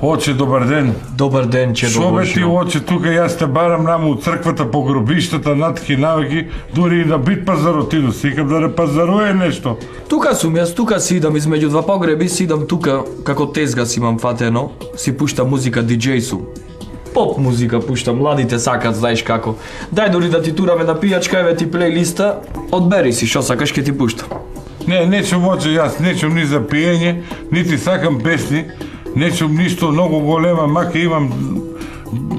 Оче, добар ден. Добар ден, че Шо бе ти, оче, тука јас те барам наму од црквата по гробиштата, натки навеки, дури и на бит пазарот иду, сикам да не пазаруе нешто. Тука сум јас, тука си идам измеѓу два погреби, си идам тука, како тезга си имам фатено, си пуштам музика, диџеј сум. Поп музика пуштам, младите сакат, знаеш како. Дај дори да ти тураме на пијачка, еве ти плейлиста, одбери си шо сакаш, ке ти пуштам. Нечем, оче, јас нечем ни за пиење, нити сакам песни, нечем ништо многу голема, маке имам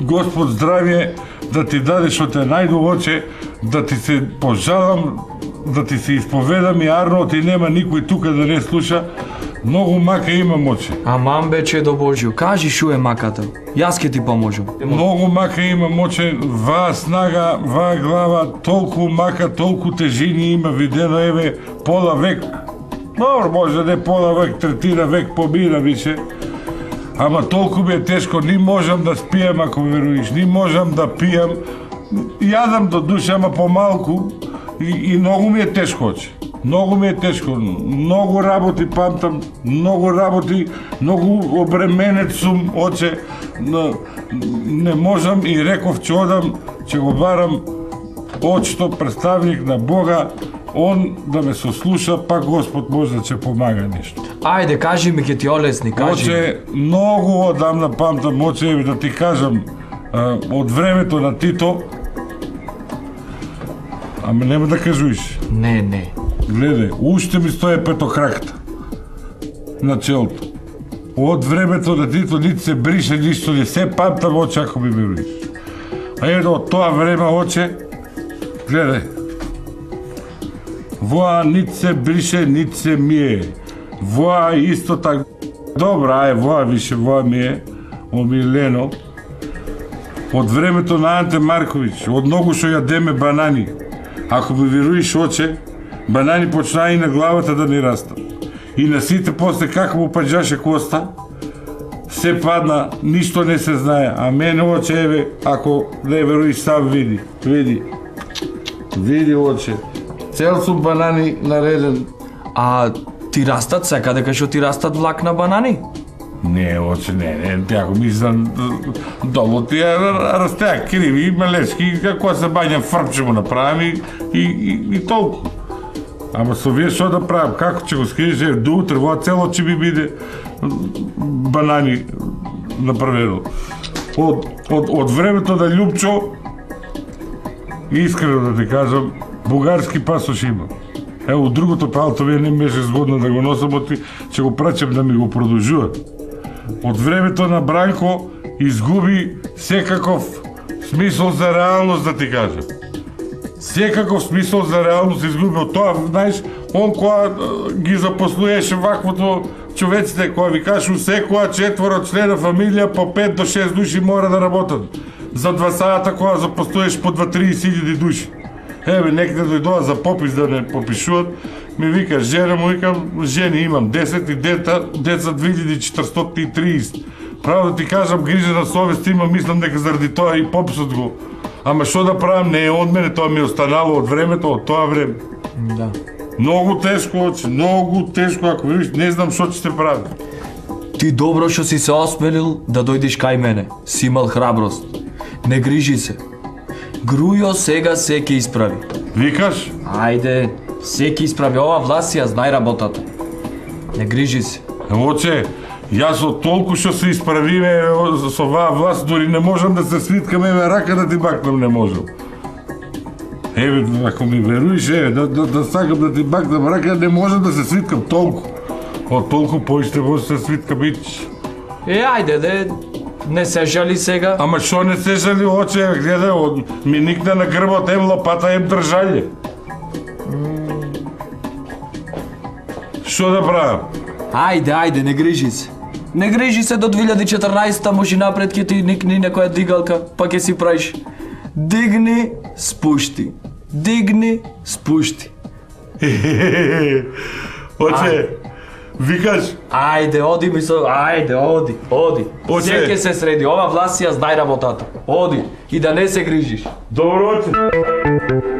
Господ здравје да ти даде што те најду, оче, да ти се пожалам, да ти се исповедам и арно, ти нема никој тука да не слуша. Многу мака имам, оче. Аман бе, че до Божјо, кажи шо е маката, јас ке ти поможам. Многу мака имам, оче, ваа снага, ваа глава, толку мака, толку тежини има видено, еве, пола век. Добро, може да не пола век, третина век побира више. Ама толку ми е тешко, ни можам да спијам, ако веруиш, ни можам да пијам. Јадам до душа, ама помалку, и многу ми е тешко, оче. Многу ми е тешко, многу работи памтам, многу работи, многу обременет сум, оче, не можам и реков че одам, че го барам очто представник на Бога, он да ме сослуша, пак Господ може да ќе помага нешто. Ајде, кажи ми, ке ти олесни, кажи. Оче, многу одамна памтам, оче, да ти кажам, од времето на Тито, ама нема да кажуиш. Не. Гледај, уште ми стои петокракта на челото. Од времето на Тито нити се брише, ништо не се памтам, оче, ако ми веруиш. А ето, од тоа време, оче, гледај, воа нити се брише, нити се мие. Воа исто така. Добра, воа више, воа ми е омилено. Од времето на Анте Марковиќ, од многу што јадеме банани. Ако ми веруиш, оче, банани почнаа и на главата да ни растат. И на сите после како му паѓаше коста, се падна, ништо не се знае. А мене, оче, еве, ако не веруиш, сам види. Види, оче. Цел сум банани нареден. А ти растат секаде кај што ти растат влакна банани? Не, оче, не, ако мислам, долу тие растеа криви и мелешки, како се бањам фрпче му направам и толку. Ама со вие што да правам, како ќе го скриеш, до утре, во цело ќе би биде банани направено. Од времето на Љупчо, искрено да ти кажам, бугарски пасош има. Ево, другото палто вие не беше згодно да го носам, ќе го прачем да ми го продолжува. Од времето на Бранко изгуби секаков смисол за реалност, да ти кажам. Секаков смисол за реалност изгуби. Од тоа, знаеш, он која ги запослуеше ваквото човеците, која ви кажу секоја 4 члена фамилија по 5 до 6 души мора да работат. За 2 сата која запослуеш по 2-30 хиљади души. Еве, некаде дојдоа за попис да не попишуват, ми вика жена му, викам, жени имам 10 и деца 2430. Право да ти кажам, грижа на совест имам, мислам дека заради тоа и пописот го. Ама што да правам, не е од мене, тоа ми е останало од времето, од тоа време. Да. Многу тешко, оче, многу тешко, ако видиш, не знам што ќе се прави. Ти добро што си се осмелил да дојдеш кај мене. Си имал храброст. Не грижи се. Грујо сега се ќе исправи. Викаш? Ајде, се ќе исправи, ова власт ја знај работата. Не грижи се. Оче, јас од толку што се исправиме со оваа власт, дури не можам да се свиткам, еве рака да ти бакнам не можам. Еве, ако ми веруиш, еве, да сакам да ти бакнам рака, не можам да се свиткам толку. Од толку поиште може да се свиткам ич. Ајде, не се жали сега. Ама што не се жали, оче, гледај, ми никна на грбот, ем лопата, ем држање. Што да правам? Ајде, не грижи се. Не грижи се до 2014-та, може напред ќе ти никни некоја дигалка, па ќе си правиш. Дигни, спушти. Дигни, спушти. Оче, Викаш? Ајде, оди ми со... Ајде, оди. Оце. Се ќе се среди. Ова власт си ја знај работата. Оди. И да не се грижиш. Добро вечер.